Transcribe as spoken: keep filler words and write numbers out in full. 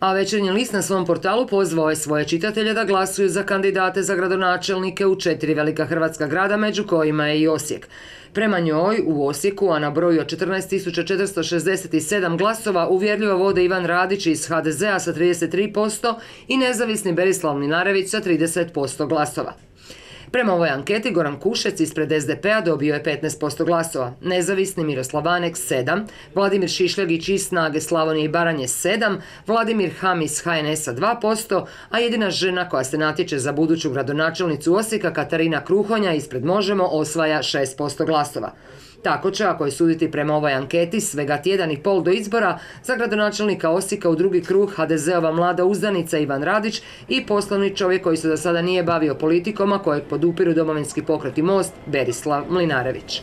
A Večernji list na svom portalu pozvao je svoje čitatelje da glasuju za kandidate za gradonačelnike u četiri velika hrvatska grada, među kojima je i Osijek. Prema njoj, u Osijeku, a na broju od četrnaest tisuća četiristo šezdeset sedam glasova, uvjerljivo vode Ivan Radić iz ha de zea sa trideset tri posto i nezavisni Berislav Mlinarević sa trideset posto glasova. Prema ovoj anketi, Goran Kušec ispred es de pe a dobio je petnaest posto glasova, nezavisni Miroslav Vanek sedam, Vladimir Šišljagić iz Snage Slavonije i Baranje sedam, Vladimir Ham iz ha en esa dva posto, a jedina žena koja se natječe za buduću gradonačelnicu Osijeka, Katarina Kruhonja, ispred Možemo osvaja šest posto glasova. Tako će, ako je suditi prema ovoj anketi, svega tjedan i pol do izbora, za gradonačelnika Osijeka u drugi krug ha de zeova mlada uzdanica Ivan Radić i poslovni čovjek koji se do sada nije bavio politikom, a kojeg podupiru Domovinski pokret i Most, Berislav Mlinarević.